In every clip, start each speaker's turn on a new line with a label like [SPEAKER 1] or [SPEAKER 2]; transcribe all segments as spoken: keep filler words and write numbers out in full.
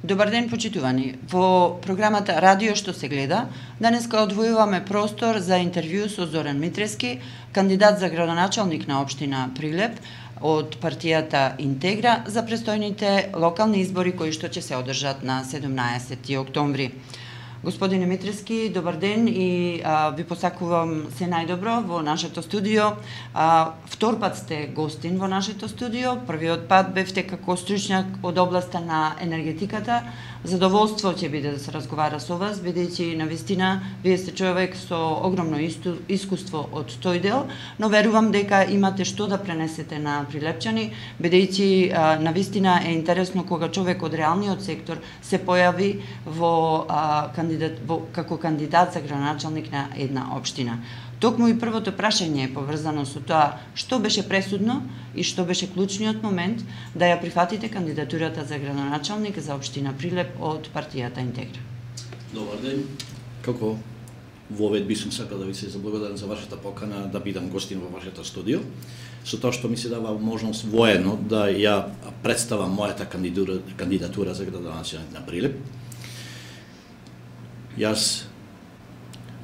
[SPEAKER 1] Добар ден, почитувани. Во програмата Радио што се гледа, денеска одвојуваме простор за интервју со Зоран Митрески, кандидат за градоначалник на општина Прилеп од партијата Интегра за престојните локални избори кои што ќе се одржат на седумнаесети октомври. Господине Митрески, добар ден и а, ви посакувам се најдобро во нашето студио. А, втор пат сте гостин во нашето студио. Првиот пат бевте како стручњак од областа на енергетиката. Задоволство ќе биде да се разговара со вас, бидејќи навистина вие сте човек со огромно исту, искуство од тој дел, но верувам дека имате што да пренесете на прилепчани, бидејќи навистина е интересно кога човек од реалниот сектор се појави во а, кандидат, во, како кандидат за градоначалник на една општина. Токму и првото прашање е поврзано со тоа што беше пресудно и што беше клучниот момент да ја прифатите кандидатурата за градоначалник за општина Прилеп од партијата Интегра.
[SPEAKER 2] Добар ден. Како во овет би сум сакал да ви се заблагодарам за вашата покана да бидам гостин во вашето студио, со тоа што ми се дава можност воедно да ја представам мојата кандидатура, кандидатура за градоначалник на Прилеп. Јас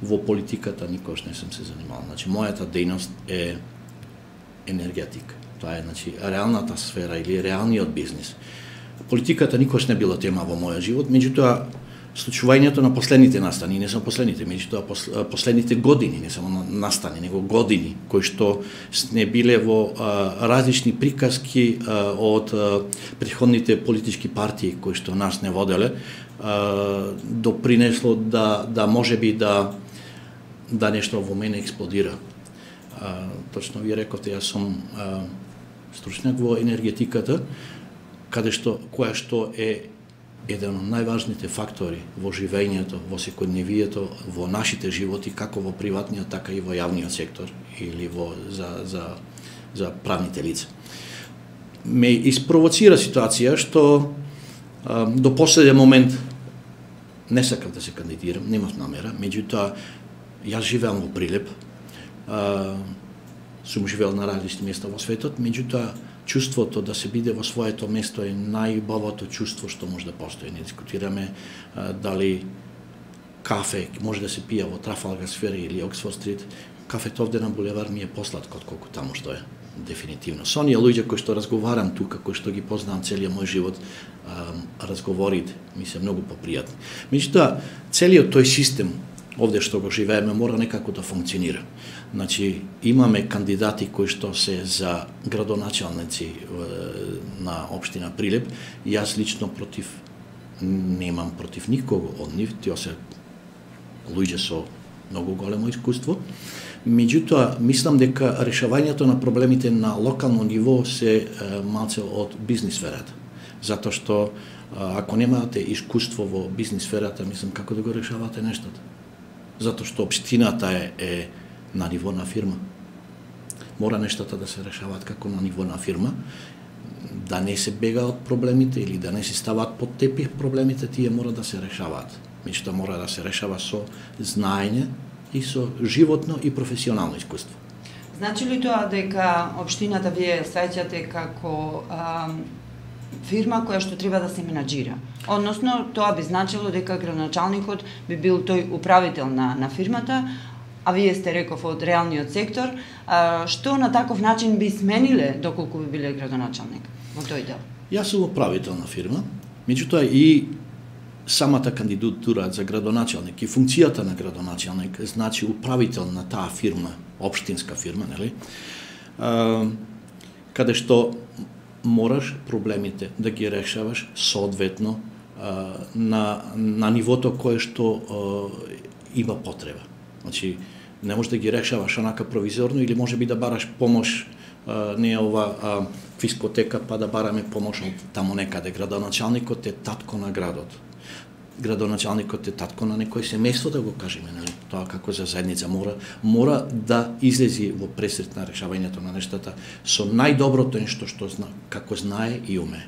[SPEAKER 2] во политиката никош не сум се занимавал. Значи, мојата дејност е енергетика. Тоа е, значи, реалната сфера или реалниот бизнис. Политиката никош не била тема во мојот живот, меѓутоа, случувањето на последните настани, не само последните, меѓутоа последните години, не само настани, него години, кои што не биле во а, различни приказки а, од а, претходните политички партии кои што нас не воделе, а, допринесло да, да може би да да нешто во мене експлодира. А, точно ви рековте, јас сум а, стручњак во енергетиката, каде што, која што е еден од најважните фактори во живењето, во секојдневието, во нашите животи, како во приватниот, така и во јавниот сектор или во за за за правните лица. Ме испровоцира ситуација што а, до последен момент не сакав да се кандидирам, немав намера, меѓутоа јас живеам во Прилеп, а, сум живеел на различни места во светот, меѓутоа чувството да се биде во своето место е најубавото чувство што може да постои. Не дискутираме а, дали кафе може да се пие во Трафалгар Сквер или Оксфорд Стрит. Кафето овде на булевар ми е посладко отколку таму што е. Дефинитивно. Со оние луѓе кои што разговарам тука, кои што ги познавам целиот мој живот, а, разговорите ми се многу попријатни. Меѓутоа, целиот тој систем овде што го живееме мора некако да функционира. Значи, имаме кандидати кои што се за градоначалници на општина Прилеп. Јас лично против, немам против никого од нив, тие се луѓе со многу големо искуство. Меѓутоа, мислам дека решавањето на проблемите на локално ниво се малце од бизнис сферата. Затоа што ако немате искуство во бизнис сферата, мислам како да го решавате нештата. Затоа што општината е, е на ниво на фирма. Мора нештата да се решаваат како на ниво на фирма, да не се бега од проблемите или да не се ставаат под тепих проблемите, тие мора да се решаваат. Меѓутоа мора да се решава со знаење и со животно и професионално искуство.
[SPEAKER 1] Значи ли тоа дека општината вие сваќате како а, фирма која што треба да се менаџира? Односно, тоа би значило дека градоначалникот би бил тој управител на, на фирмата, а вие сте реков од реалниот сектор, а, што на таков начин би смениле доколку би биле градоначалник во тој дел?
[SPEAKER 2] Јас сум управител на фирма, меѓутоа и самата кандидатура за градоначалник и функцијата на градоначалник значи управител на таа фирма, општинска фирма, нели? А, каде што мораш проблемите да ги решаваш соодветно а, на, на нивото кое што а, има потреба. Значи, не можеш да ги решаваш онака провизорно или може би да бараш помош, а, не е ова а, фискотека, па да бараме помош од таму некаде. Градоначалникот е татко на градот. Градоначалникот е татко на некој семејство, да го кажеме, нели? Тоа како за заедница мора мора да излези во пресрет на решавањето на нештата со најдоброто нешто што зна, како знае и уме.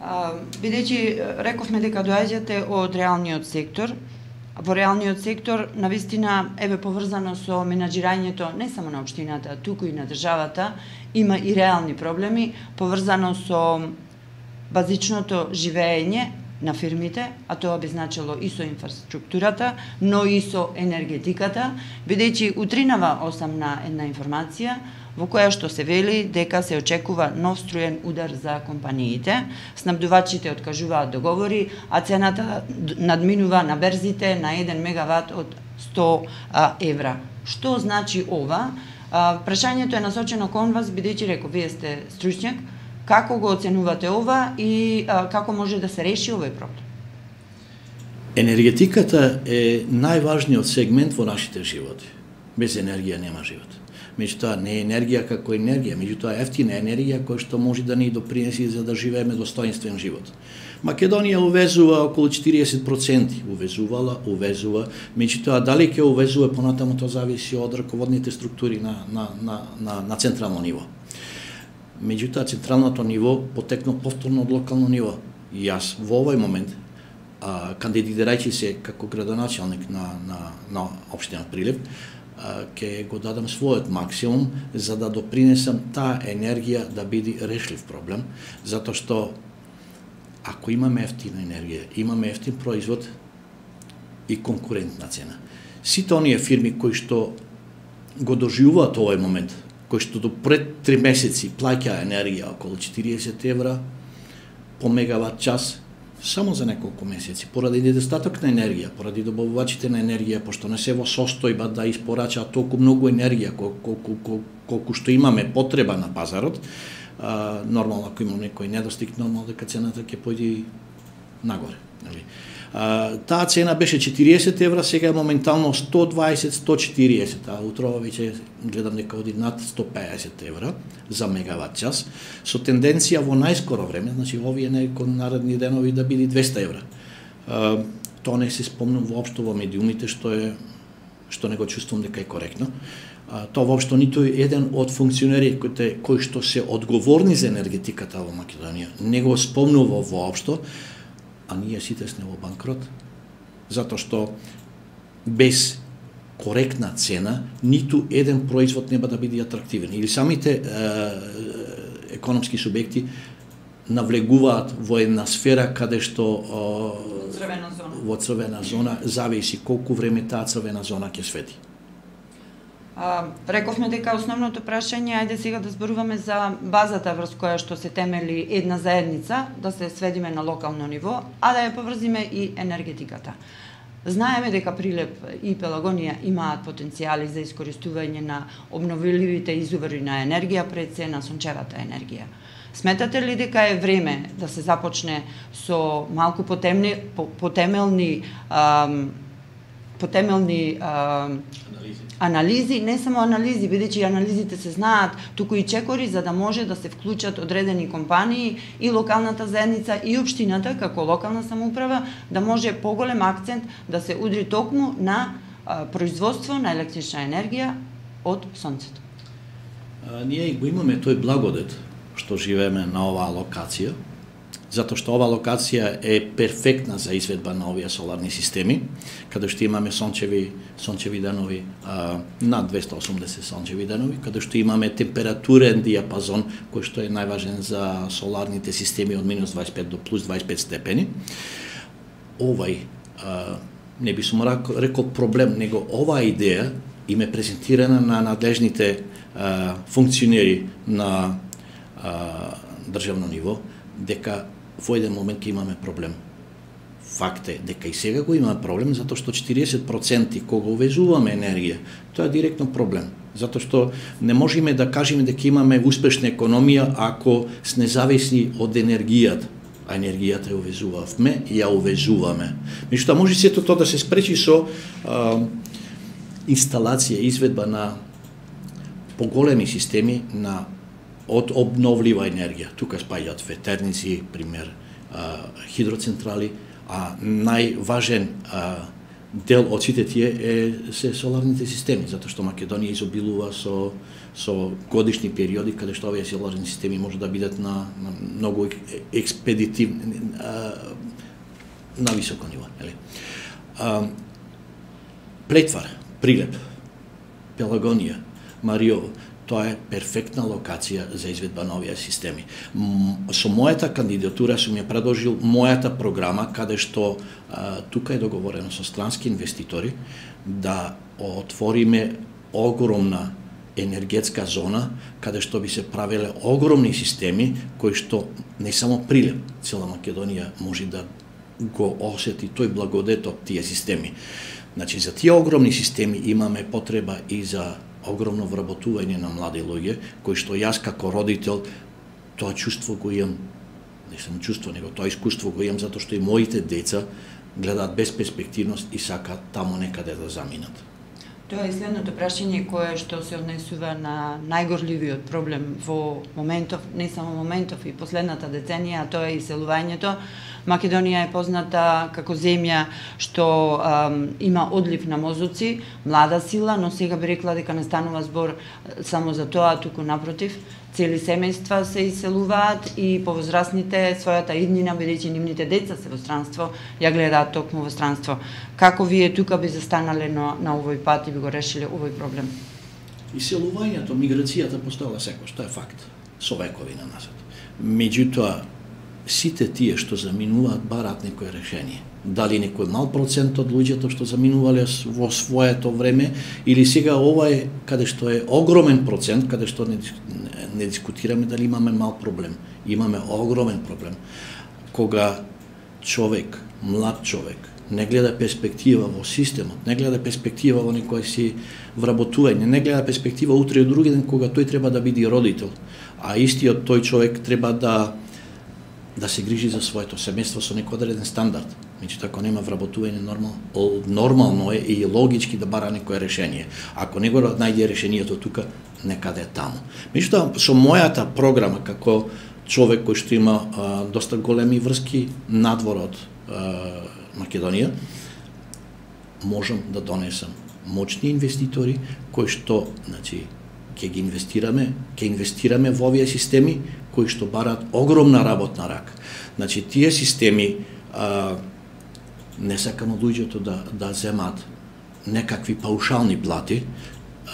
[SPEAKER 1] Бидејќи рековме дека доаѓате од реалниот сектор, во реалниот сектор навистина еве поврзано со менаџирањето не само на општината, туку и на државата, има и реални проблеми поврзано со базичното живење на фирмите, а тоа би значило и со инфраструктурата, но и со енергетиката, бидејќи утринава осамна една информација во која што се вели дека се очекува нов струен удар за компаниите. Снабдувачите откажуваат договори, а цената надминува на берзите на еден мегават од сто евра. Што значи ова? Прашањето е насочено кон вас, бидејќи реков, вие сте стручњак. Како го оценувате ова и а, како може да се реши овој проблем?
[SPEAKER 2] Енергетиката е најважниот сегмент во нашите животи. Без енергија нема живот. Меѓутоа, не е енергија како енергија, меѓутоа ефтина енергија која што може да ни допринеси за да живееме достоинствен живот. Македонија увезува околу четириесет проценти, увезувала, увезува, меѓутоа дали ќе увезува понатаму, тоа зависи од раководните структури на, на, на, на, на централно ниво. Меѓутоа, централното ниво потекна повторно од локално ниво. И јас во овој момент, а, кандидирајќи се како градоначалник на, на, на општина Прилеп, ќе го дадам својот максимум за да допринесам таа енергија да биде решлив проблем, затоа што ако имаме ефтина енергија, имаме ефтин производ и конкурентна цена. Сите оние фирми кои што го доживуваат овој момент, кои што до пред три месеци плаќаа енергија околу четириесет евра по мегават час, само за неколку месеци, поради недостаток на енергија, поради добавувачите на енергија, пошто не се во состојба да испорачаат толку многу енергија колку, колку, колку што имаме потреба на пазарот, а, нормално ако има некој недостиг, нормално дека цената ќе појде нагоре. Нели? А, таа цена беше четириесет евра, сега е моментално сто дваесет до сто четириесет, а утрова веќе гледам дека оди над сто пеесет евра за мегават час, со тенденција во најскоро време, значи овие некои наредни денови да биде двеста евра. А, тоа не се спомнам воопшто во медиумите, што е што не го чувствувам дека е коректно. А, тоа воопшто ниту еден од функционери кои, кои што се одговорни за енергетиката во Македонија не го спомнува воопшто, а ние сите сме во банкрот, затоа што без коректна цена ниту еден производ нема да биде атрактивен. Или самите е, економски субјекти навлегуваат во една сфера каде што е,
[SPEAKER 1] црвена зона.
[SPEAKER 2] Во црвена зона зависи колку време таа црвена зона ќе свети.
[SPEAKER 1] А, рековме дека основното прашање, ајде сега да зборуваме за базата врз која што се темели една заедница, да се сведиме на локално ниво, а да ја поврзиме и енергетиката. Знаеме дека Прилеп и Пелагонија имаат потенцијали за искористување на обновливите извори на енергија, пред се на сончевата енергија. Сметате ли дека е време да се започне со малку потемни, потемелни ам, потемелни ам,
[SPEAKER 2] Анализи.
[SPEAKER 1] анализи, не само анализи, бидејќи анализите се знаат, туку и чекори за да може да се вклучат одредени компании и локалната заедница и општината како локална самоуправа да може поголем акцент да се удри токму на а, производство на електрична енергија од сонцето.
[SPEAKER 2] А, ние го имаме тој благодет што живееме на оваа локација, затоа што оваа локација е перфектна за изведба на овие соларни системи, каде што имаме сончеви, сончеви денови, а, над двеста и осумдесет сончеви денови, каде што имаме температурен диапазон, кој што е најважен за соларните системи од минус дваесет и пет до плюс дваесет и пет степени. Овај, а, не би сум рекол проблем, него оваа идеја им е презентирана на надлежните а, функционери на а, државно ниво, дека во еден момент ќе имаме проблем. Факт е дека и сега го имаме проблем, затоа што четириесет проценти кога увезуваме енергија, тоа е директно проблем. Затоа што не можеме да кажеме дека имаме успешна економија ако сме зависни од енергијата, а енергијата ја увезувавме и ја увезуваме. Меѓутоа може сето тоа да се спречи со а, инсталација, изведба на поголеми системи на од обновлива енергија. Тука спаѓаат ветерници, пример, а, хидроцентрали, а најважен а, дел од сите тие е се соларните системи, затоа што Македонија изобилува со со годишни периоди каде што овие соларни системи може да бидат на, на многу експедитивни, а, на високо ниво, нели? А, Плетвар, Прилеп, Пелагонија, Мариово, тоа е перфектна локација за изведба на овие системи. Со мојата кандидатура сум ја предложил мојата програма, каде што а, тука е договорено со странски инвеститори да отвориме огромна енергетска зона, каде што би се правеле огромни системи, кои што не само Прилеп, цела Македонија може да го осети тој благодет од тие системи. Значи, за тие огромни системи имаме потреба и за огромно вработување на млади луѓе, кои што јас како родител тоа чувство го имам, не само чувство, него тоа искуство го имам, затоа што и моите деца гледаат без перспективност и сакаат таму некаде да заминат.
[SPEAKER 1] Тоа е следното прашање кое што се однесува на најгорливиот проблем во моментов, не само моментов, и последната деценија, а тоа е иселувањето. Македонија е позната како земја што ам, има одлив на мозоци, млада сила, но сега би рекла дека не станува збор само за тоа, туку напротив, цели семејства се иселуваат и повозрасните својата иднина, бидејќи нивните деца се во странство, ја гледаат токму во странство. Како вие тука би застанале на, на овој пат и би го решиле овој проблем?
[SPEAKER 2] Иселувањето, миграцијата постоела секојаш, тоа е факт, со векови на назад. Меѓутоа, сите тие што заминуваат бараат некое решение. Дали некој мал процент од луѓето што заминувале во своето време, или сега ова е каде што е огромен процент, каде што не, не дискутираме дали имаме мал проблем. Имаме огромен проблем. Кога човек, млад човек, не гледа перспектива во системот, не гледа перспектива во некој си вработување, не гледа перспектива утре и други ден кога тој треба да биде родител, а истиот тој човек треба да да се грижи за своето семејство со некој одреден стандард. Меѓутоа, ако нема вработување, нормал, нормално е и логички да бара некое решение. Ако не го најде решението тука, некаде таму. Меѓутоа, со мојата програма како човек кој што има а, доста големи врски надвор од а, Македонија, можам да донесам моćни инвеститори кои што, значи, ќе ги инвестираме, ќе инвестираме во овие системи кои што бараат огромна работна рака. Значи, тие системи а, не сакам од луѓето да да земат некакви паушални плати.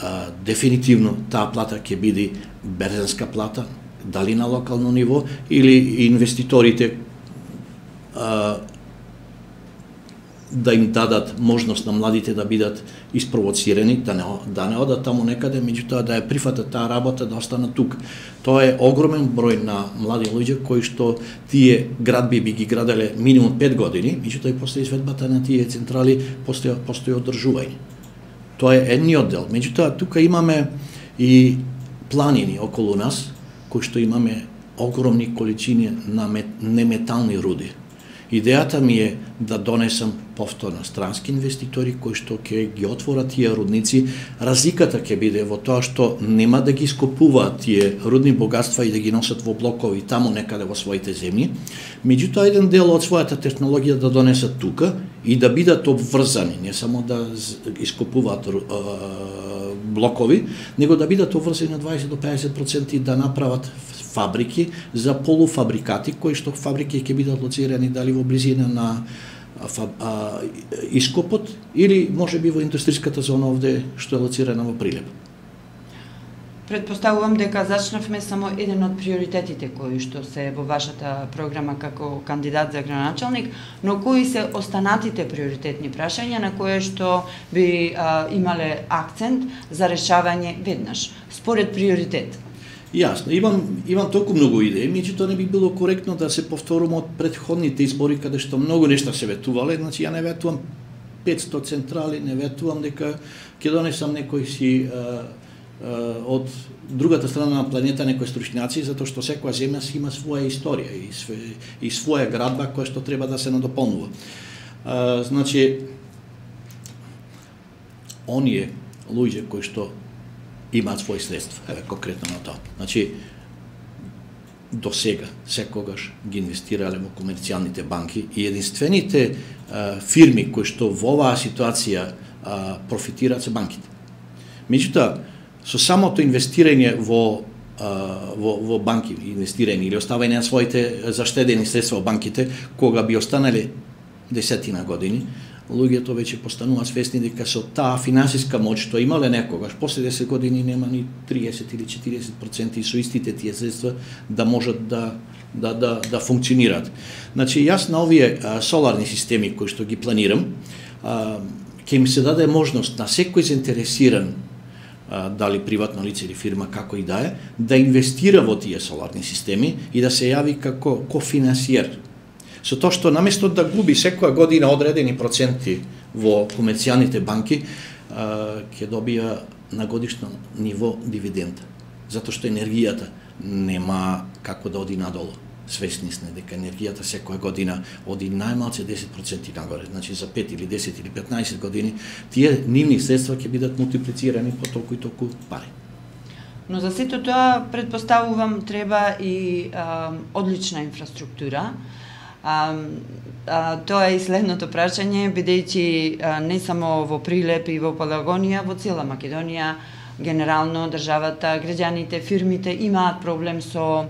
[SPEAKER 2] А, дефинитивно таа плата ќе биде берзанска плата, дали на локално ниво или инвеститорите а, да им дадат можност на младите да бидат испровоцирани, да не, да не одат таму некаде, меѓутоа да ја прифатат таа работа, да останат тука. Тоа е огромен број на млади луѓе кои што тие градби би ги граделе минимум пет години, меѓутоа и после изведбата на тие централи постои постои одржување. Тоа е едниот дел. Меѓутоа тука имаме и планини околу нас кои што имаме огромни количини на мет, неметални руди. Идејата ми е да донесам повторно странски инвеститори кои што ќе ги отворат тие рудници. Разликата ќе биде во тоа што нема да ги скопуваат тие рудни богатства и да ги носат во блокови таму некаде во своите земји. Меѓутоа, еден дел од својата технологија да донесат тука и да бидат обврзани, не само да ископуваат блокови, него да бидат обврзани на дваесет до педесет проценти да направат фабрики за полуфабрикати, кои што фабрики ќе бидат лоцирани дали во близина на а, а, ископот или може би во индустријската зона овде што е лоцирана во Прилеп.
[SPEAKER 1] Предпоставувам дека зачнавме само еден од приоритетите кои што се во вашата програма како кандидат за градоначалник, но кои се останатите приоритетни прашања на кои што би а, имале акцент за решавање веднаш, според приоритет?
[SPEAKER 2] Јасно, имам имам толку многу идеи, меѓутоа не би било коректно да се повторам од претходните избори каде што многу нешта се ветувале, значи ја не ветувам петсто централи, не ветувам дека ќе донесам некој си а, а, од другата страна на планета некои стручњаци, затоа што секоја земја си има своја историја и, све, и своја градба која што треба да се надополнува. А, значи, оние луѓе кои што имаат своји средства, еве конкретно на тоа. Значи, до сега секогаш ги инвестирале во комерцијалните банки и единствените а, фирми кои што во оваа ситуација а, профитираат се банките. Меѓутоа, со самото инвестирање во а, во, во банки, инвестирање или оставање на своите заштедени средства во банките, кога би останале десетина години, луѓето веќе постануваат свесни дека со таа финансиска моќ што имале некогаш, после десет години нема ни триесет или четириесет проценти со истите тие средства да можат да да да да функционираат. Значи јас на овие а, соларни системи кои што ги планирам, а, ќе ми се даде можност на секој заинтересиран, а, дали приватно лице или фирма, како и да е, да инвестира во тие соларни системи и да се јави како кофинансиер. Со тоа што наместо да губи секоја година одредени проценти во комерцијалните банки, ќе добија на годишно ниво дивиденда. Затоа што енергијата нема како да оди надолу. Свесни сме дека енергијата секоја година оди најмалце десет проценти нагоре. Значи за пет или десет или петнаесет години тие нивни средства ќе бидат мултиплицирани по толку и толку пари.
[SPEAKER 1] Но за сето тоа претпоставувам треба и а, одлична инфраструктура. А, а, тоа е и следното прашање, бидејќи не само во Прилеп и во Пелагонија, во цела Македонија, генерално државата, граѓаните, фирмите имаат проблем со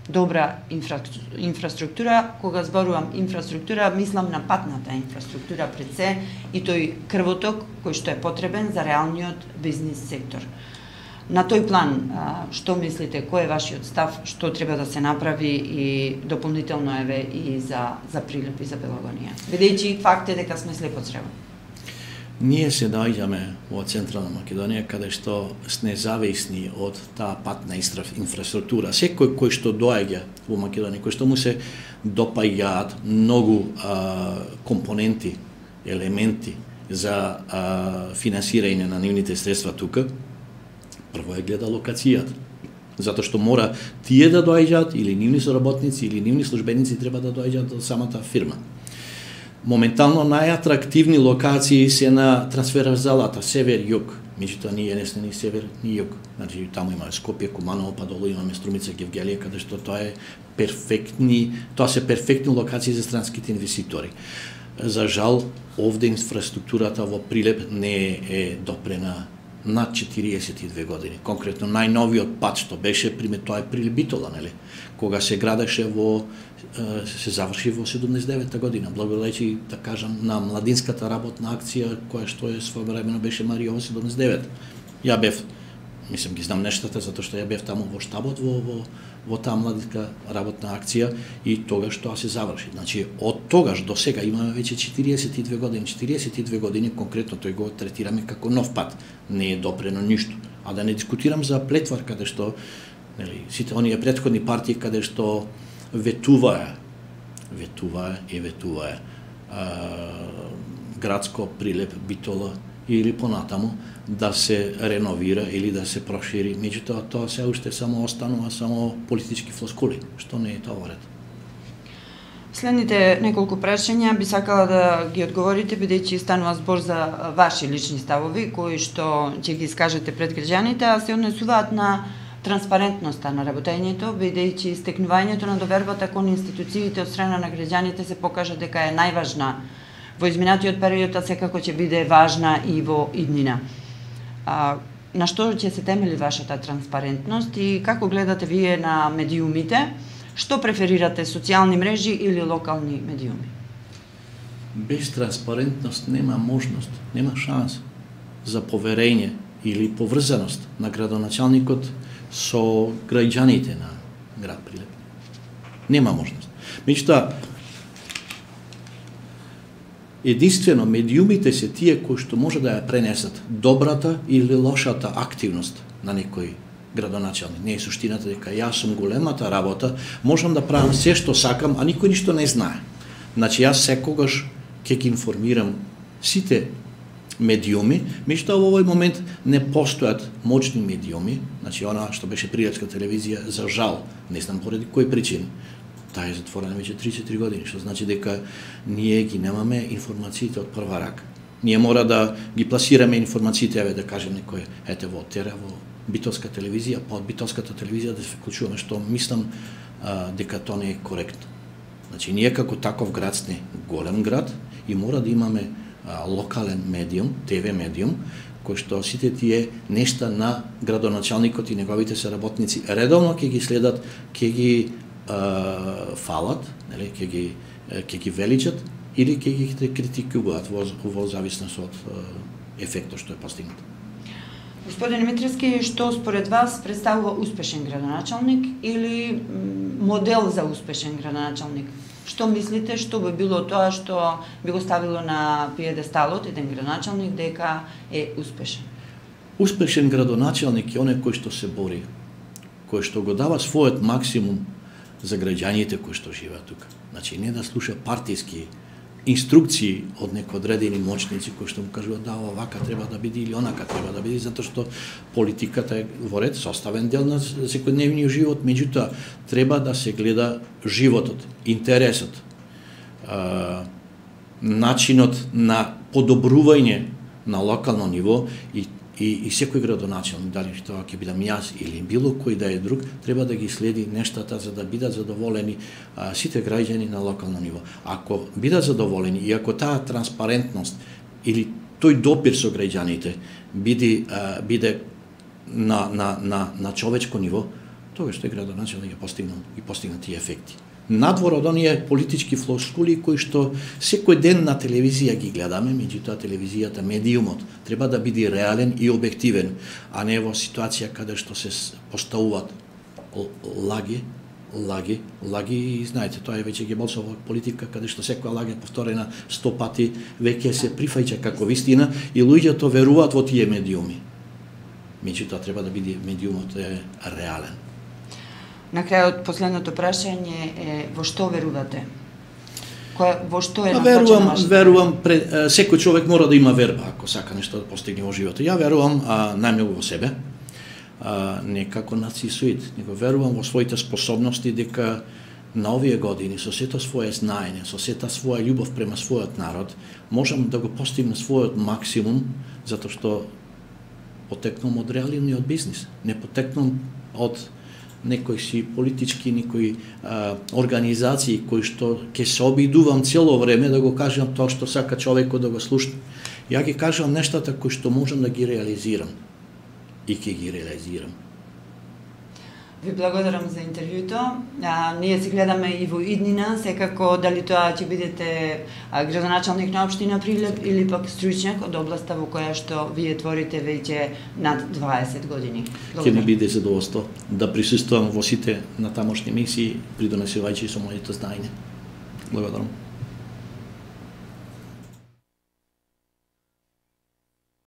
[SPEAKER 1] добра инфра... инфраструктура. Кога зборувам инфраструктура, мислам на патната инфраструктура пред се и тој крвоток кој што е потребен за реалниот бизнис сектор. На тој план, што мислите, кој е вашиот став, што треба да се направи и дополнително еве и за за Прилеп и за Пелагонија? Бидејќи факт е дека сме слепо црево.
[SPEAKER 2] Ние се наоѓаме во Централна Македонија, каде што сме зависни од таа патна инфраструктура. Секој кој што доаѓа во Македонија, кој што му се допаѓаат многу а, компоненти, елементи за а, финансирање на нивните средства тука, прво е гледа локацијата. Затоа што мора тие да доаѓаат, или нивни соработници, или нивни службеници треба да доаѓаат до самата фирма. Моментално најатрактивни локации се на трансферзалата север-југ. Меѓутоа ние не сме ни север ни југ. Значи таму има Скопје, Куманово, па долу имаме Струмица, Гевгелија, каде што тоа е перфектни, тоа се перфектни локации за странските инвеститори. За жал, овде инфраструктурата во Прилеп не е допрена над четириесет и две години. Конкретно најновиот пат што беше, пример, тоа е Прилеп Битола, нели? Кога се градеше во се заврши во седумдесет и девета година, благодарејќи, да кажам, на младинската работна акција која што е своевремено беше Мариово седумдесет и девет. Ја бев, мислам ги знам нештата затоа што ја бев таму во штабот во во во таа младинска работна акција и тогаш тоа се заврши. Значи од тогаш до сега имаме веќе четириесет и две години, четириесет и две години конкретно тој го третираме како нов пат. Не е допрено ништо. А да не дискутирам за Плетвар каде што, нели, сите оние претходни партии каде што ветуваа, ветуваа и ветуваа градско Прилеп, Битола или понатаму да се реновира или да се прошири. Меѓутоа тоа се уште само останува само политички флоскули, што не е тоа ред.
[SPEAKER 1] Следните неколку прашања би сакала да ги одговорите, бидејќи станува збор за ваши лични ставови кои што ќе ги искажете пред граѓаните, а се однесуваат на транспарентноста на работењето, бидејќи стекнувањето на довербата кон институциите од страна на граѓаните се покажа дека е најважна во изминатиот период, а секако ќе биде важна и во иднина. А, на што ќе се темели вашата транспарентност и како гледате вие на медиумите? Што преферирате, социјални мрежи или локални медиуми?
[SPEAKER 2] Без транспарентност нема можност, нема шанс за поверење или поврзаност на градоначалникот со граѓаните на град Прилеп. Нема можност. Меѓутоа, единствено медиумите се тие кои што може да ја пренесат добрата или лошата активност на некој градоначалник. Не е суштината дека јас сум големата работа, можам да правам се што сакам, а никој ништо не знае. Значи јас секогаш ќе ги информирам сите медиуми, меѓутоа во овој момент не постојат моćни медиуми, значи она што беше Прилепска телевизија, за жал, не знам поради кои причини. Таа е затворена веќе три-четири години, што значи дека ние ги немаме информациите од прва рака. Ние мора да ги пласираме информациите, еве да кажем некој, ете во Тера, во Битолска телевизија, па од Битолската телевизија да се вклучуваме, што мислам а, дека тоа не е коректно. Значи ние како таков град сме голем град и мора да имаме а, локален медиум, те ве медиум, кој што сите тие нешта на градоначалникот и неговите соработници редовно ќе ги следат, ќе ги Uh, фалат, нели, ќе ги ќе ги величат или ќе ги критикуваат во, во зависност од ефектот што е постигнат.
[SPEAKER 1] Господин Митрески, што според вас представува успешен градоначалник или модел за успешен градоначалник? Што мислите, што би било тоа што би го ставило на пиедесталот еден градоначалник дека е успешен?
[SPEAKER 2] Успешен градоначалник е оној кој што се бори, кој што го дава својот максимум за граѓаните кои што живеат тука. Значи, не да слуша партиски инструкции од некои одредени моćници кои што му кажуваат да овака треба да биде или онака треба да биде, затоа што политиката е во ред составен дел на секојдневниот живот, меѓутоа треба да се гледа животот, интересот, начинот на подобрување на локално ниво и И, и секој градоначалник, дали тоа ќе бидам јас или било кој да е друг, треба да ги следи нештата за да бидат задоволени а, сите граѓани на локално ниво. Ако бидат задоволени и ако таа транспарентност или тој допир со граѓаните биде, а, биде на, на, на, на човечко ниво, тогаш тој градоначалник ќе постигнат и постигнат тие ефекти. Надвор од оние политички флоскули кои што секој ден на телевизија ги гледаме, меѓутоа телевизијата, медиумот, треба да биде реален и објективен, а не во ситуација каде што се поставуваат лаги, лаги, лаги и знаете, тоа е веќе ги болсова политика, каде што секоја лага е повторена сто пати, веќе се прифаќа како вистина и луѓето веруваат во тие медиуми. Меѓутоа треба да биде медиумот е реален.
[SPEAKER 1] На крајот, последното прашање е во што верувате? Кој, во што е
[SPEAKER 2] насочена вашата? Верувам, пред, секој човек мора да има верба ако сака нешто да постигне во животот. Ја верувам а, најмногу во себе, а, не како нацисоид, него верувам во своите способности дека на овие години, со сето своје знаење, со сета своја љубов према својот народ, можам да го постигнам својот максимум, затоа што потекнам од реалниот бизнис, не потекнам од некои си политички, некои а, организации кои што ќе се обидувам цело време да го кажам тоа што сака човекот да го слушне. Ја ги кажам нештата кои што можам да ги реализирам и ќе ги реализирам.
[SPEAKER 1] Ви благодарам за интервјуто. А, ние се гледаме и во иднина, секако дали тоа ќе бидете а, градоначалник на општина Прилеп или пак стручњак од областа во која што вие творите веќе над дваесет години.
[SPEAKER 2] Ќе ми биде задоволство да присуствувам во сите на тамошни мисии, придонесувајќи со моето знаење. Благодарам.